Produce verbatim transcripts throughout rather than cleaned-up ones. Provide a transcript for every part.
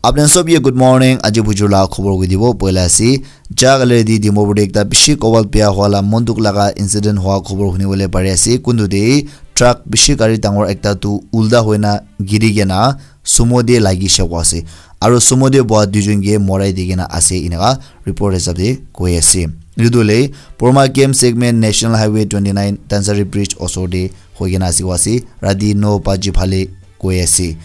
Apni sob ye good morning. Aji bujur la khobor koi dibo. Poila ase, ja kali di Dimapur de ekta bishi kobal bia hua la mon dukh laga incident hua khobor huni bole pari ase. Kuntu de truck bishi gari dangor ekta tu ulta hoina giri kena sumo de lagi she koi ase. Aru sumo de boa duijon ke morai di kena ase, eneka report hisab de koi ase. Etu le Porma Game Segment National Highway twenty nine Tansari Bridge osor de hoi kena ase koi ase. Rati no baji phale koi ase.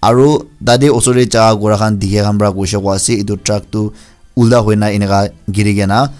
Aru tate osor te jaga kura khan dikha khan para koi she koi ase. Etu truck tu ulta hoina eneka giri kena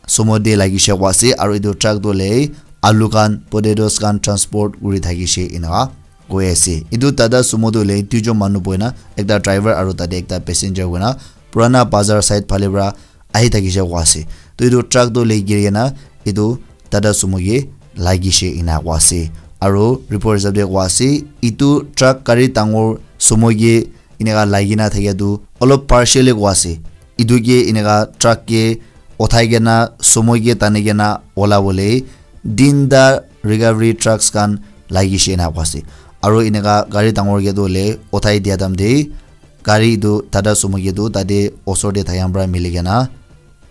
sumo de lagi she koi ase. Aru etu truck tu le alu khan, potatoes khan transport kuri thaki she eneka koi ase. Etu Tata Sumo tu le duijon manu bohi na, ekta driver aru tate ekta passenger hoina Purana Bazar side phale para ahi thaki she koi ase. To etu truck tu le giri kena etu Tata Sumo ke lagi she eneka koi ase. Aru report hisab de koi ase, etu truck gari dangor sumo ke eneka lagi na thakia tu olop partially koi ase. Etu ke eneka truck ke uthai kena sumo ke tani kena ola bole tinta recovery trucks khan lagi she eneka koi ase. Aru eneka gari dangor ke tu le uthai dia time de gari etu Tata Sumo ke tu tate osor de thaka para mili kena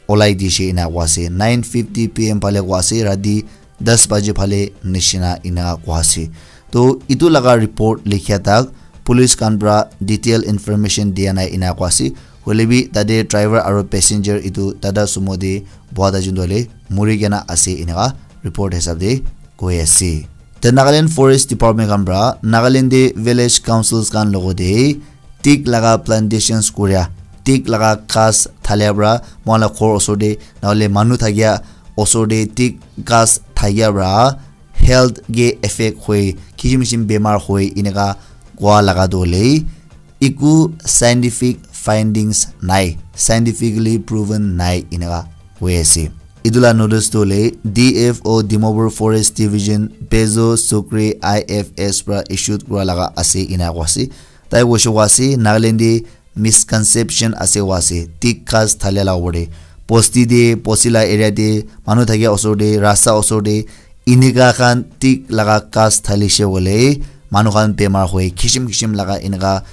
olai di she eneka koi ase. Nine fifty P M phale koi ase, rati das baji phale nishina eneka koi ase. To etu laga report likhia tak police khan para detail information dia nai eneka koi ase. Hoile bi tate driver aru passenger etu Tata Sumo de boha ta jun tu le muri kena ase eneka report hisab de koi ase. The Nagaland Forest Department khan para Nagaland de village councils khan logo de teak laga plantations kuria, teak laga ghas thalia para moikhan la ghor osor de nahole manu thakia osor de teak ghas thakia para health ke effect hoi, kishim kishim bemar hoi, eneka kua laga tu hoile eku scientific findings nai, scientifically proven nai eneka hoi ase. Etu la notice tu hoile D F O Dimapur Forest Division Bezo Sukri I F S para issued kura laga ase eneka koi ase. Tai koi she koi ase Nagaland de misconception ase koi ase, teak ghas thalia la opor de. Bosti de, bosti la area de, manu thakia osor de, rasta osor de, eneka khan teak laga ghas thali she hoile manu khan bemar hoi, kishim kishim laga eneka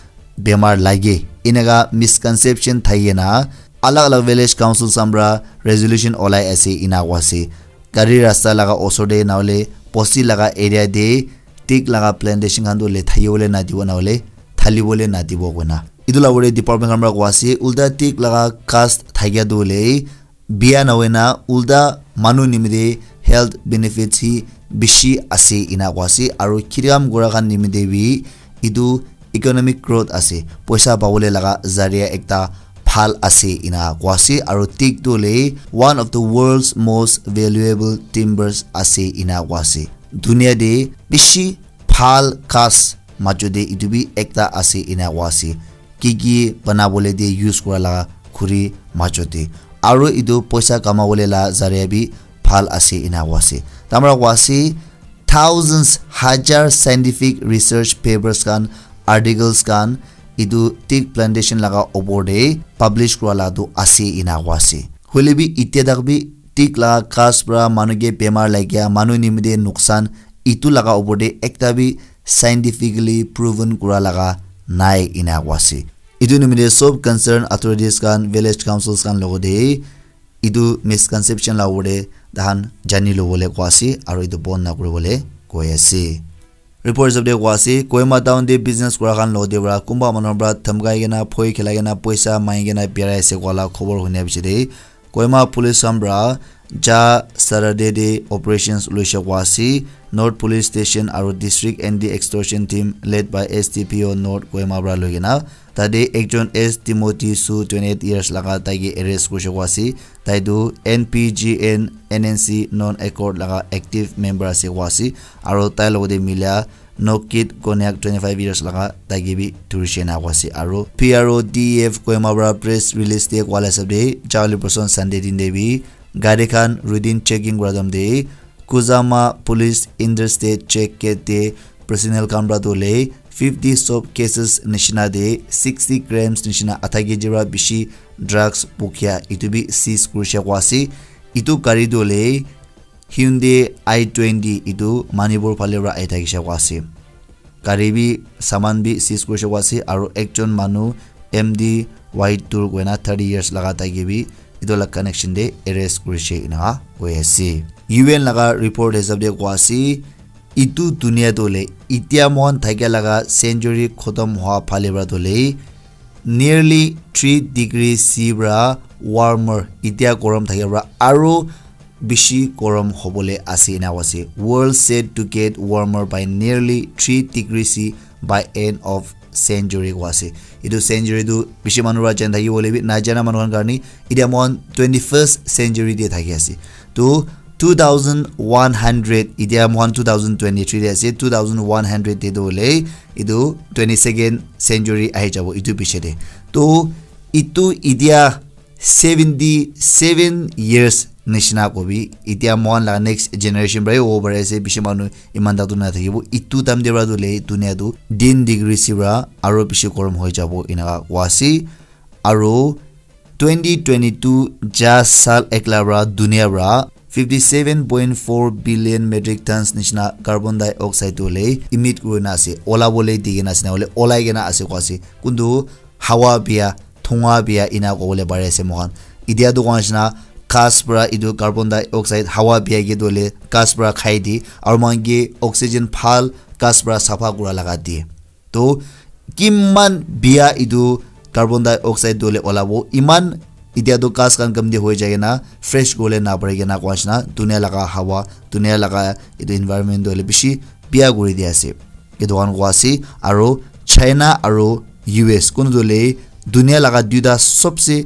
bemar lage. Eneka misconception thaki kena alag alag village council khan para resolution olai ase eneka koi ase. Gari rasta laga osor de nahole bosti laga area de teak laga plantation khan tu le thaki bole na dibo nahole thali bole na dibo koina. Etu la opor de department khan para koi ase, ulta teak laga ghas thakia tu hoile bia na hoina ulta manu nimite health benefits hi bishi ase eneka koi ase. Aru kheti kam kura khan nimite bi etu economic growth ase, poisa pabole laga zaria ekta bhal ase eneka koi ase. Aru teak tu hoile one of the world's most valuable timbers ase eneka koi ase. Dunia de bishi bhal ghas majo de etu bi ekta ase eneka koi ase. Ki ki bana bole de use kura laga khuri majo de. Aru etu poisa kama bole la zaria bi bhal ase eneka koi ase. Tai para koi ase thousands, hajar scientific research papers khan, articles khan etu teak plantation laga opor de publish kura la tu ase eneka koi ase. Hoile bi etia tak bi teak laga ghas para manu ke bemar lagia, manu nimite nuksan, etu laga opor de ekta bi scientifically proven kura laga nai eneka koi ase. Etu nimite sob concerned authorities khan, village councils khan logo de etu misconception la opor de tahan jani lobole koi ase aru etu bon na kuribole koi ase. Report hisab de koi ase, Kohima town de business kura khan logo de para kunba manu para dhamkai kena, bhoi khilai kena, poisa mangi kena birai ase koi la khobor hunia piche de Kohima police khan para ja Saturday de operations loise koi ase. North Police Station aru District Anti Extortion Team led by S D P O North Kohima para loi kena tate ekjon S Timothy Su twenty eight years laga tai ke arrest kurise koi ase. Tai tu N P G N N N C non accord laga active member ase koi ase. Aru tai logote mila Nokit Konyak twenty five years laga tai ke bi dhurise na koi ase. Aru P R O D F Kohima para press release te koa la hisab te, jali person Sunday din te bi gari khan routine checking kura time te Kuzama Police Interstate Check Gate te personnel khan para tu hoile fifty soap cases nishina te sixty grams nishina adha K G para bishi drugs pukhia etu bi seize kurise koi ase. Etu gari tu hoile Hyundai i twenty etu Manipur phale para ahi thakishe koi ase. Gari bi saman bi seize kurise koi ase aru ekjon manu M D White Tour koina thirty years laga tai ke bi etu la connection te arrest kurishe ena koi ase. U N laga report hisab te koa ase, itu dunia tu le, itia mohan thakia laga century khotom hoa phale pra tu le, nearly three degree C pra warmer, itia gorom thakia pra aro bishi gorom hobole ase ena koa ase. World set to get warmer by nearly three degree C by end of century koa ase. Itu century tu bishi manu pra jana thaki bole bi na jana manu khan karni itia mohan twenty first century te thaki ase. Tu two thousand one hundred, itia mohan two thousand twenty three te ase, two thousand one hundred te tu hole itu twenty second century ahi jabo itu piche te. Tu itu itia seventy seven years nishina kobi, itia mohan la next generation pra hobo pari ase, bishi manu iman ta tu na thakibo. Itu time te pra tu le dunia tu ten degree C pra aro bishi gorom hoi jabo ena koa ase. Aro twenty twenty two ja sal ekla pra dunia pra fifty seven point four billion metric tons nishina carbon dioxide tu le emit kurina ase, ola bole di kena ase na hole olai kena ase koa ase. Kuntu hawa bia, thunga bia ena kobole pari ase mohan. Itia tu koa nishina ghas pra itu carbon dioxide hawa bia ke tu le ghas pra khai di, aro mohan ke oxygen bhal ghas pra sapha kura laga di. To kiman bia itu carbon dioxide tu le olabo, iman itia tu ghas khan kam di hoi jai kena fresh kole na pari kena koa nishina dunia laga hawa, dunia laga itu environment tu le bishi bia kuri di ase. Etu khan koa ase, aro China aro U S kunu tu le dunia laga duita sobse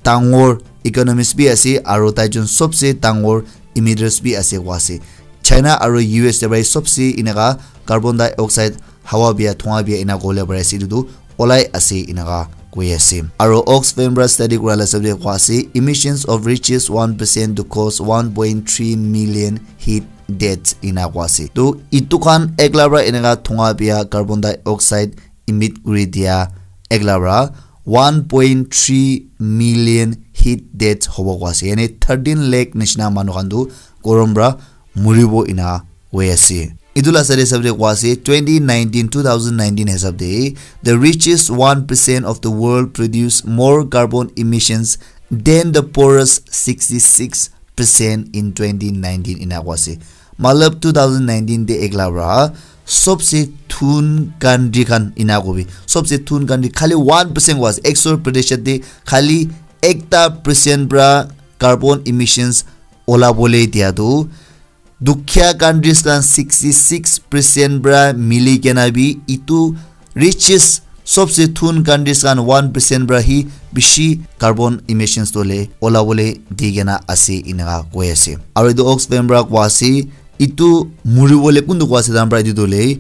dangor economies bi ase, aro taijon sobse dangor emitters bi ase koa ase. China aro U S te pra sobse enaka carbon dioxide, hawa bia, thunga bia ena kobole pari ase, etu tu olai ase enaka koi ase. Aro Oxfam pra study kura la hisab te koa ase, emissions of richest one percent to cause one point three million heat deaths ena koa ase. To itu khan ekla pra enaka thunga bia carbon dioxide emit kuri dia ekla pra one point three million heat deaths hobo koa ase. Yani thirteen lakh nishina manu khan tu gorom pra muribo ena koi ase. Itu la side hisab te koa ase, twenty nineteen, two thousand nineteen hisab te, the richest one percent of the world produce more carbon emissions than the poorest sixty six percent in twenty nineteen ena koa ase. Matlab two thousand nineteen te ekla pra sobse thun country khan ena kobi, sobse thun country khali one percent koa ase. Ek sor Pradesh te khali ekta percent pra carbon emissions ola bole dia tu dukhia countries khan sixty six percent pra mili kena bi itu richest sobse thun countries khan one percent pra hi bishi carbon emissions tu le ola bole di kena ase enaka koi ase. Aro itu Oxfam pra koa ase, itu muri bole kuntu koa ase dan pra itu tu le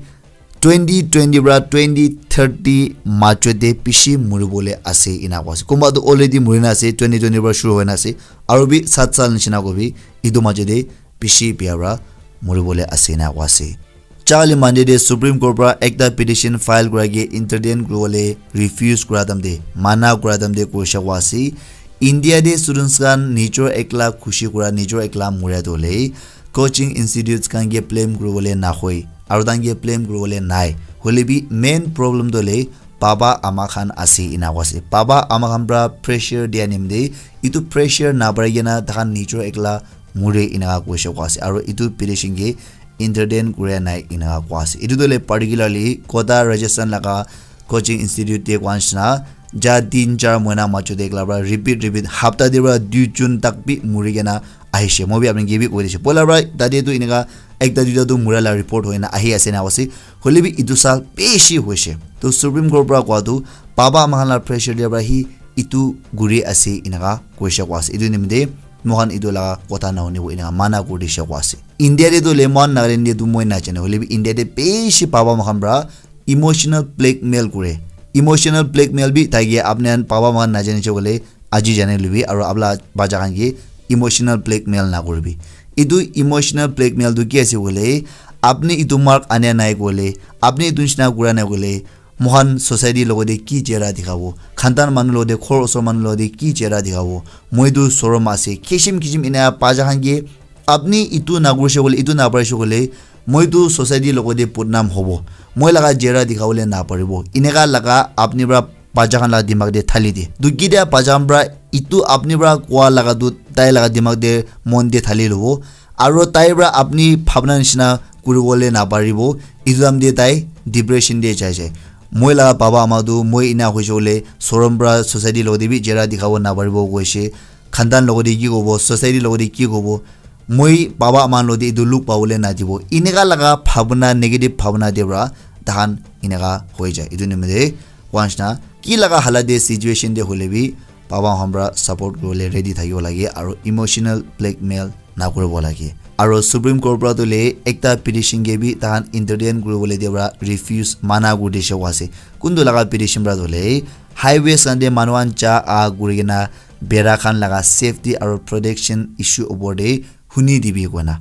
twenty twenty pra twenty thirty majo te bishi muri bole ase ena koa ase. Kunba tu already muri na ase, twenty twenty pra shuru hoi na ase, aro bi sat sal nishina kobi itu majo te bishi bia pra muri bole ase ena koa ase. Charli Monday te Supreme Court pra ekta petition file kura ke entertain kuri bole refuse kura time te, mana kura time te koisha koa ase. India te students khan nijor ekla khushi kura, nijor ekla muria tu le coaching institutes khan ke blame kuri bole na hoi, aro tan ke blame kuri bole nai. Hole bi main problem tu le baba ama khan ase ena koa ase. Baba ama khan pra pressure dia nimite itu pressure na pari kena takhan nijor ekla muri enaka koisha koa ase. Aro itu petition ke entertain kuria nai enaka koa ase. Itu tu le particularly Kota Rajasthan laga coaching institute te koa nishina ja tin char mohina majo te ekla pra repeat repeat hapta te pra dui jun tak bi muri kena ahishe. Moi bi apni ke bi koi dishe. Poila pra tate tu enaka ekta duita tu mura la report hoi na ahi ase na ase. Hole bi itu sal bishi hoishe. To Supreme Court pra koa tu baba ama khan la pressure dia pra hi itu guri ase enaka koisha koa ase. Itu nimite moikhan itu laga kotha na hunibo enaka mana kuri disha koa ase. India te tu le moikhan Nagaland te tu moi na jane, hole bi India te bishi baba ama khan pra emotional blackmail kure. Emotional blackmail bi thake, apni khan baba ama khan na jane che kole aji jane lubi, aro apla bacha khan ke emotional blackmail na kuribi. Itu emotional blackmail tu ki ase kole, apni itu mark ania nai kole, apni itu nishina kura nai kole, moikhan society logote ki chehra dikhabo, khandan manu logote, ghor osor manu logote ki chehra dikhabo, moi tu sorom ase, kishim kishim ena bacha khan ke apni itu nakurishe kole, itu naparishe kole, moi tu society logote bodnam hobo, moi laga chehra dikhabole naparibo, eneka laga apni pra bacha khan la dimag te thali di. Tu kitia bacha khan pra itu apni pra koa laga tu tai laga dimag te mon te thali lobo. Aro tai pra apni bhabna nishina kuribole naparibo. Itu time te tai depression te jai jai. Moi laga baba ama tu moi ina hoise bole sorom pra society logote bi jera dikhabo naparibo koise. Khandan logote ki kobo, society logote ki kobo. Moi baba ama logote itu look pabole nadibo. Ineka laga bhabna, negative bhabna te pra tahan ineka hoi jai. Itu nimite wanshna ki laga halat te situation te hoile bi baba khan pra support kuribole ready thakibo lage aro emotional blackmail nakuribo lage. Aro Supreme Court pra tu le ekta petition ke bi tahan entertain kuribole dia pra refuse mana kuri dishe koa ase. Kuntu laga petition pra tu le highways khan te manu khan ja ah kuri kena bera khan laga safety aro protection issue opor te huni dibi koina.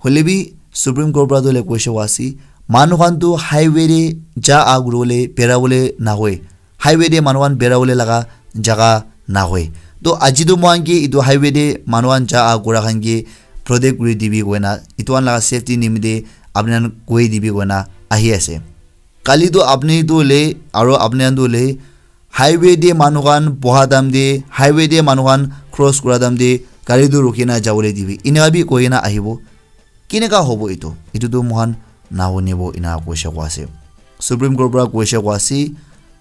Hoile bi Supreme Court pra tu le koishe koa ase manu khan tu highway te ja ah kuribole bera bole nahoi. Highway te manu khan bera bole laga jaga nahoi. To aji tu moikhan ke itu highway te manu khan ja ah kura khan ke protect kuri dibi koina itu khan laga safety nimite apni khan koi dibi koina ahi ase. Kali tu apni tu le aro apni khan tu le highway te manu khan boha time te, highway te manu khan cross kura time te gari tu rukhi na jabole dibi. Ineka bi koi na ahibo. Kineka hobo itu? Itu tu moikhan nahunibo ina koishe koa ase. Supreme Court pra koishe koa ase,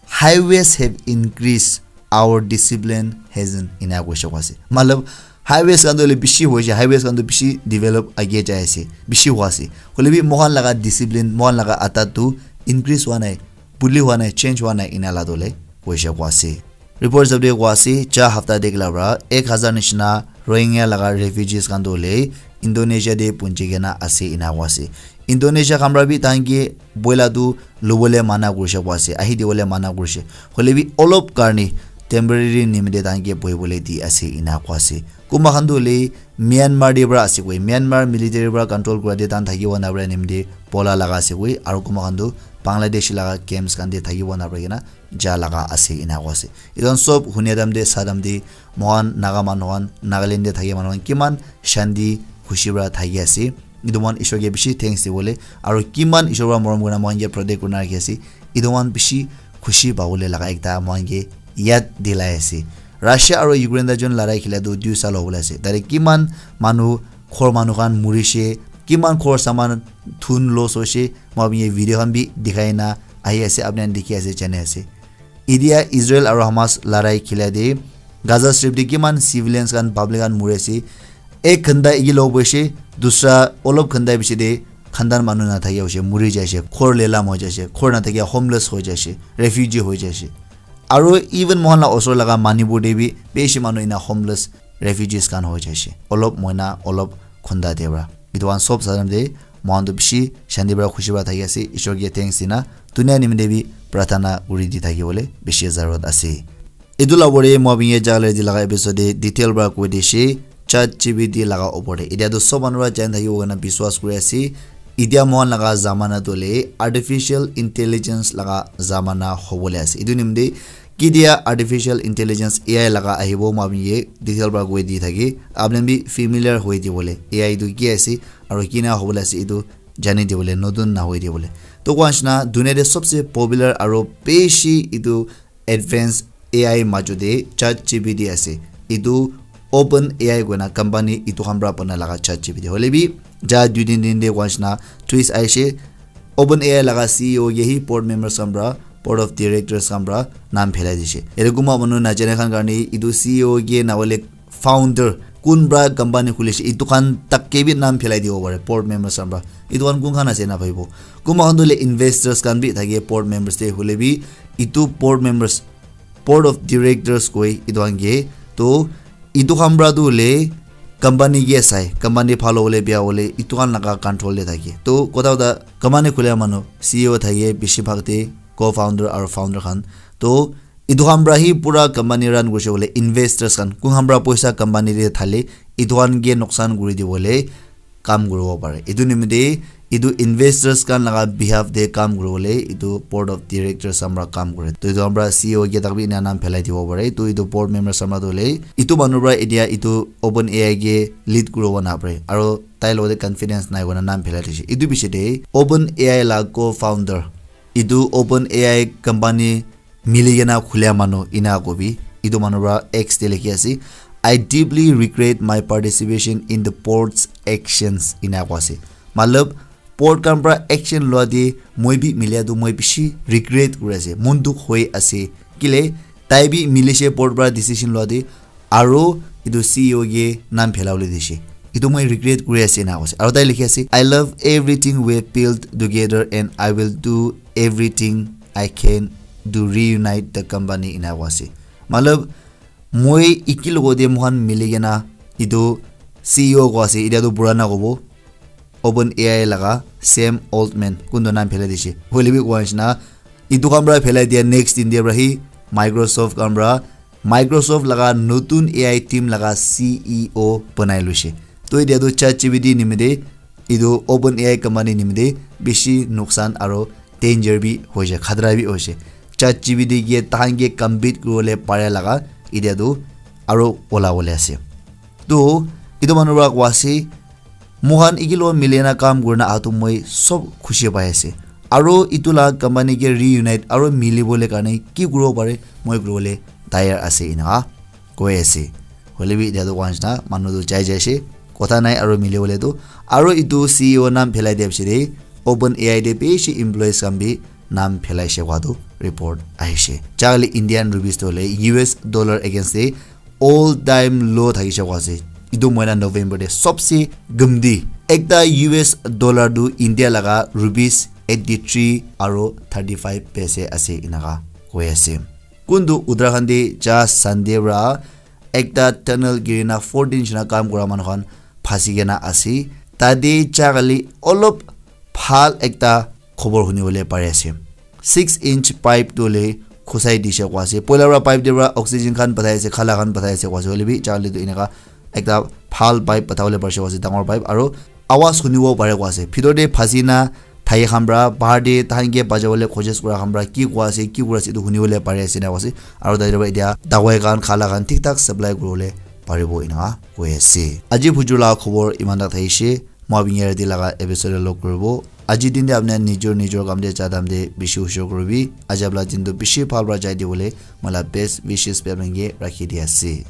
"Highways have increased, our discipline hasn't," ina koishe koa ase. Matlab, highways khan tu hoile bishi hoise, highways khan tu bishi develop age jai ase, bishi hua ase. Hoile bi moikhan laga discipline, moikhan laga adat tu increase hua nai, buli hua nai, change hua nai, ina la tu hoile koishe koa ase. Report hisab te koa ase, ja hafta te kila pra ek hazar nishina Rohingya laga refugees khan tu hoile Indonesia te punchi kena ase ina koa ase. Indonesia khan pra bi tahan ke boila tu lobole mana kurishe koa ase, ahi dibole mana kurishe. Hoile bi olop karni temporary nimite tahan ke bohibole di ase ina koa ase. Kunba khan tu hoile Myanmar te pra ase koi, Myanmar military pra control kura te tahan thakibo na pra nimite bola laga ase koi, aro kunba khan tu Bangladesh laga camps khan te thakibo na pra kena ja laga ase ina koa ase. Etu khan sob hunia time te sa time te moikhan Naga manu khan, Nagaland te thaki manu khan kiman shanti khushi pra thaki ase. Etu moikhan Ishwar ke bishi thanks dibole aro kiman Ishwar pra morom kurina moikhan ke protect kurina rakhi ase. Etu moikhan bishi khushi pabole laga ekta moikhan ke yad dilai ase. Russia aro Ukraine ta jun larai khila tu dui sal hobole ase. Tate kiman manu, ghor manu khan murishe, kiman ghor saman thun loss hoishe, moi apni ke video khan bi dikhai na ahi ase, apni khan dikhi ase, jani ase. Itia Israel aro Hamas larai khila te Gaza Strip te kiman civilians khan, public khan muri ase. Ek ghanta egi log boishe, dusra olop ghanta piche te khandan manu na thakia hoishe, muri jaishe, ghor lelam hoi jaishe, ghor na thakia homeless hoi jaishe, refugee hoi jaishe. Aro even moikhan la osor laga Manipur te bi bishi manu ina homeless refugees khan hoi jaishe. Olop moina, olop khunda te pra. Etu khan sob salam te moikhan tu bishi shanti pra khushi pra thaki ase. Ishwar ke thanks dina dunia nimite bi prarthana kuri di thaki bole bishi zarurat ase. Etu la pore moi apni ke jale di laga episode te detail pra koi dishe. Chat G P T laga opor te. Etia tu sob manu pra jani thakibo koina biswas kuri ase. Etia moikhan laga zamana tu hoile artificial intelligence laga zamana hobole ase. Etu nimite ketia artificial intelligence A I laga ahibo, moi apni ke detail pra koi di thaki. Apni bi familiar hoi dibole. A I tu ki ase, aro kina hobole ase, etu jani dibole, notun na hoi dibole. To koa nishina, dunia te sobse popular aro bishi etu advanced A I majo te Chat G P T ase. Etu Open A I koina company etu khan pra bana laga Chat G P T. Hoile bi, ja dui din din te koa nishina twist aishe. Open A I laga C E O ke hi board members khan pra, board of directors khan pra nam phelai dishe. Ete kunba manu najane khan karne etu C E O ke na hoile founder kun pra company khulishe, etu khan tak ke bi nam phelai dibo pare, board members khan pra. Etu khan kun khan ase na bhabibo. Kunba khan tu hoile investors khan bi thake board members te, hoile bi etu board members, board of directors koi etu khan ke. To etu khan pra tu hoile company ke sai, company bhal hobole bia hobole etu khan laga control te thake. To kotha kotha company khula manu C E O thake bishi bhag te, co-founder aro founder khan. To etu khan pra hi pura company run kurishe bole investors khan kun khan pra poisa company te thale etu khan ke noksan kuri dibole kam kuribo pare. Etu nimite etu investors khan laga behalf te kam kuribole etu board of directors khan pra kam kure. To etu khan pra C E O ke tak bi ena nam phelai dibo pare. To etu board members khan pra tu hoile etu manu pra etia etu Open A I ke lead kuribo napare. Aro tai logote confidence nai koina nam phelai dishe. Etu piche te Open A I la co-founder, etu Open A I company mili kena khulia manu ena kobi. Etu manu para X te likhi ase, "I deeply regret my participation in the board's actions," ena koa ase. Matlab, board khan para action lua te moi bi milia tu moi bishi regret kuri ase, mon dukh hoi ase. Kile tai bi milishe board para decision lua te, aro etu C E O ke nam phelabole dishe. Etu moi regret kuri ase ena koise. Aro tai likhi ase, "I love everything we built together and I will do everything I can to reunite the company," ena koa ase. Matlab, moi iki logo te moikhan mili kena etu C E O koa ase, etia tu purana kobo, OpenAI laga Sam Altman, kuntu nam phelai dishe. Hoile bi koa nishina, etu khan para phelai dia next din dia para hi Microsoft khan para Microsoft laga notun A I team laga C E O banai loishe. To etia tu ChatGPT nimite, etu OpenAI company nimite bishi nuksan aro danger bi hoishe, khatra bi hoishe. ChatGPT ke tahan ke compete kuribole pare laga etia tu aro ola bole ase. To etu manu para koa ase, "Moikhan iki logot mili na kam kurina aha tu moi sob khushi pai ase. Aro etu la company ke reunite aro mili bole karne ki kuribo pare moi kuribole tayar ase," ena koi ase. Hoile bi etia tu koa nishina manu tu jai jai she, kotha nai aro mili bole tu. Aro etu C E O nam phelai dia piche te OpenAI te bishi employees khan bi nam phelai she koa tu report ahishe. Chakali Indian rupees tu hoile U S dollar against te all time low thakishe koa ase. Etu moina November te sobse gumdi. Ekta U S dollar tu India laga rupees eighty three aro thirty five paise ase ena koi ase. Kuntu Uttarakhand te ja Sunday para ekta tunnel girina fourteen jana kam kura manu khan phasi kena ase. Tate ja kali olop bhal ekta khobor huni bole pari ase. Six inch pipe tu hoile khusai dishe koa ase. Poila para pipe te para oxygen khan pathai ase, khala khan pathai ase koa ase. Hoile bi ja kali tu eneka ekta bhal pipe patha bole parishe koa ase, dangor pipe, aro awaz hunibo pare koa ase. Bhitor te phasi na thaki khan para, bahar te tahan ke bachai bole koshish kura khan para ki koa ase, ki kuri ase, etu huni bole pari ase ena koa ase. Aro tate para etia dawai khan, khala khan thik thak supply kuri bole paribo ena koi ase. Aji bujur laga khobor eman tak thakishe. Moi apni yate laga episode lock kuribo. Aji din te apni nijor nijor kam te ja time te bishi hushar kuribi. Aji apni la din tu bishi bhal para jai dibole moi la best wishes bi apni ke rakhi di ase.